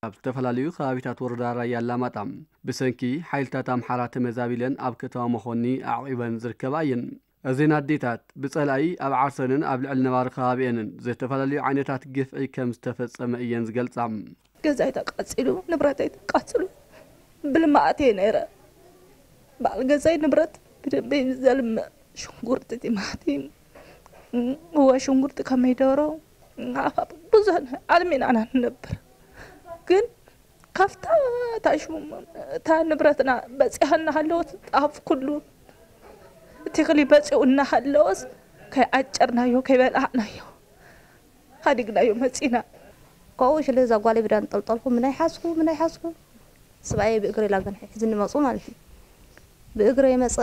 ኣብ ዝተፈላለዩ ከባቢታት ወረዳ ራያ ኣላማጣ ብሰንኪ ሓይልታት ኣምሓራ ተመዛቢለን ኣብ ከተማ መኾኒ ኣዕቒበን ዝርከባ እየን። እዘን ኣዴታት ብጸላኢ ኣብ ዓርሰንን ኣብ ልዕሊ ነባሪ ከባቢኤንን ዝተፈላለዩ ዓይነታት ግፍዒ ከም ዝተፈጸመ እየን ዝገልጻ። ገዛይ ተቃጺሉ፣ ንብረተይ ተቃጺሉ፣ ብልማዓት እየ ነይረ። በዓል ገዛይ ንብረት ብደንበ እዩ ዘልምዕ። ሽንጉርቲ፣ ቲማቲም፣ እወ ሽንጉርቲ፣ ኮሚደሮ፣ ዓፋፍ ብዙሕ ነ-፣ ኣልሚና ኢና ንነብር። ግን ካብታ እታ ሽሙ-፣ እታ ንብረትና በጺሓ እናሃለወት፣ ጣፍ ኩሉ ትኽሊ በጺኡ እናሃለወስ፣ ከይዓጨርናዮ፣ ከይበላዕናዮ፣ ሃዲግናዮ መጺና። ካብኡ ሽለ እዛ ጓለይ ብዳ እንጠልጠልኩ፣ ምናይ ሓዝኩ፣ ምናይ ሓዝኩ። ስብኣየይ ብእግሪ ኢላ ግን ሒዝኒ መጹ ማለት እዩ። ብእግሪ የመጸ፣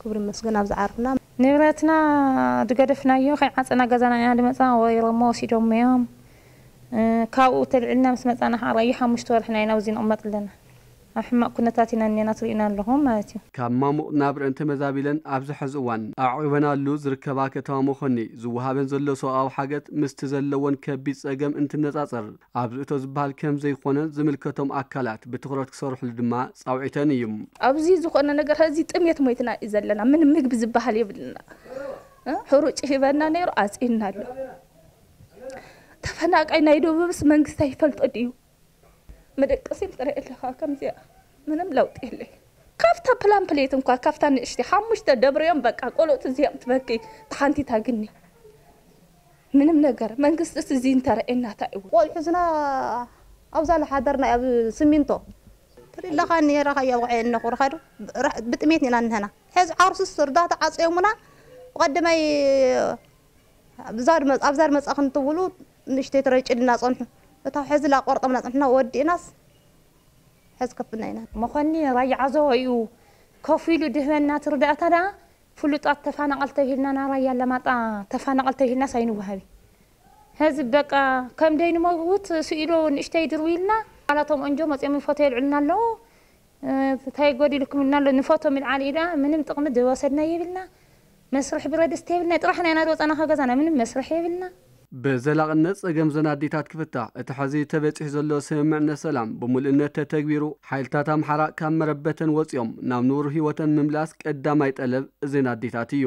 ክብሪ ይመስገን፣ ኣብዚ ዓርፍና። ንብረትና ዝገደፍናዮ ከይዓጸና ገዛና ኢና ድመጻ፣ ወይሮሞ ወሲዶሞ እዮም። እ፣ ካብኡ ተልዒልና ምስ መጻና ከዓ ራዩ ሓሙሽተ ወርሕና ኢና ኣብዚ ንቕመጥ ኣለና። ኣብ ሕማቕ ኩነታት ኢና እኒና፣ ትርእዩና ኣለኹም ማለት እዩ። ካብ ማሙቕ ናብረአን ተመዛቢለን ኣብዚ ሕዚ እዋን ኣዕቒበናሉ ዝርከባ ከተማ መኾኒ ዝወሃበን ዘሎ ሰብኣዊ ሓገዝ ምስቲ ዘለወን ከቢድ ጸገም እንትነጻጸር ኣብዚ እቶ ዝበሃል ከም ዘይኮነ ዝምልከቶም ኣካላት ብትኹረት ክሰርሕሉ ድማ ጻውዒተን እዩ። ኣብዚ ዝኾነ ነገር፣ ሕዚ ጥሜት ሞይትና እዩ ዘለና። ምን ምግቢ ዝበሃል የብልና። እ? ሕሩጭ ሂበና ነይሩ፣ ኣጽኢና ኣሎ። ተፈናቃይ ናይ ደቡብስ መንግስቲ ኣይፈልጦ ድዩ? መደቀሲ ትርኢ ኣለኻ ከምዚኣ። ምንም ለውጢ የለይ። ካብታ ፕላምፕሌት እንኳ፣ ካብታ ንእሽቲ ሓሙሽተ ደብረዮም፣ በቃ ቆልኦት እዚኦም ትበኪ፣ ተሓንቲታ ግኒ። ምንም ነገር መንግስቲ እዚ እንተረኤና እንታይ እዩ? ቆልዑ ዝና ኣብዛ ለሓደርና ኣብ ስሚንቶ ትርኢ ኣለኻ፣ ነይራ ካያ ውዐ እነኹርኻ ዶ? ብጥሜት ኢና እንህና። ሕዚ ዓርሱስ እርዳታ ዓጽዮሙና፣ ብቐደማይ ኣብዛ ድመ-፣ ኣብዛ ድመጻ ክንትብሉ ንእሽተይ ተረጭልና ጸንሑ። እታ ሕዚ ላቆርጠምና ጸንሕና ወዲእናስ ሕዚ ከፍና ኢና። መኾኒ ራያ ዓዘቦ እዩ ከፊሉ ድህበና ትርዳእታ ደኣ ፍሉጣት ተፋናቐል ተብሂልና፣ ና ራያ ኣለማጣ ተፋናቐል ተብሂልናስ ኣይንወሃቢ። ሕዚ በቃ ከም ደይ ንመውት ስኢሉ ንእሽተይ ድርዊ ኢልና፣ ኣላቶም እንጆ መጺኦም ፎቶ የልዕልና ኣለዉ። እ፣ እንታይ ጎዲልኩም ኢልና ኣሎ፣ ንፎቶ ምልዓል ኢዳ ምንም ጥቕሚ ዝወሰድና የብልና። መስርሒ ብረድስቲ የብልና። ጥራሕና ኢና ዝወጻና ካብ ገዛና፣ ምንም መስርሒ የብልና። ብዘላቕነት ጸገም ዘን ኣዴታት ክፍታሕ፣ እቲ ሕዚ ተበጺሑ ዘሎ ስምምዕነት ሰላም ብምሉእነት ተተግቢሩ፣ ሓይልታት ኣምሓራ ካብ መረበተን ወጺኦም ናብ ንቡር ህይወተን ምምላስ ቀዳማይ ጠለብ እዘን ኣዴታት እዩ።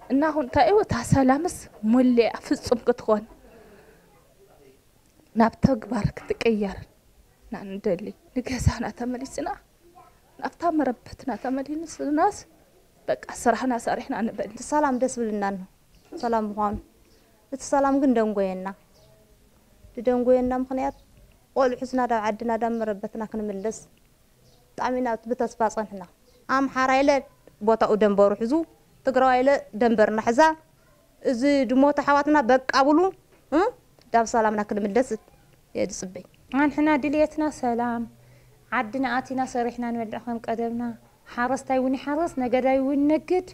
እና አሁን እንታይ እታ ሰላምስ ሙሉእ ፍጹም ክትኾን ናብ ተግባር ክትቅየር ኢና ንደሊ። ንገዛና ተመሊስና፣ ናብታ መረበትና ተመሊስናስ፣ በቃ ስራሕና ሰሪሕና ንበል። እቲ ሰላም ደስ ብልና ኣሎ፣ ሰላም ምዃኑ። እቲ ሰላም ግን ደንጎየና። ዝደንጎየና ምኽንያት፣ ቆልዑ ሒዝና ዳብ ዓድና ዳብ መረበትና ክንምለስ ብጣዕሚ ኢና ብተስፋ ጸንሕና። ኣምሓራ ኢለ ቦታኡ ደንበሩ ሒዙ፣ ትግራዋይ ኢለ ደንበርና ሒዛ፣ እዚ ድሞት ኣሕዋትና በቃ ብሉ፣ እ፣ ዳብ ሰላምና ክንምለስ እየ ዝጽበይ። ኣንሕና ድልየትና ሰላም፣ ዓድና ኣቲና ሰሪሕና ንበልዕ ከም ቀደምና፣ ሓረስታይ እውን ይሓርስ፣ ነገዳይ እውን ይነግድ፣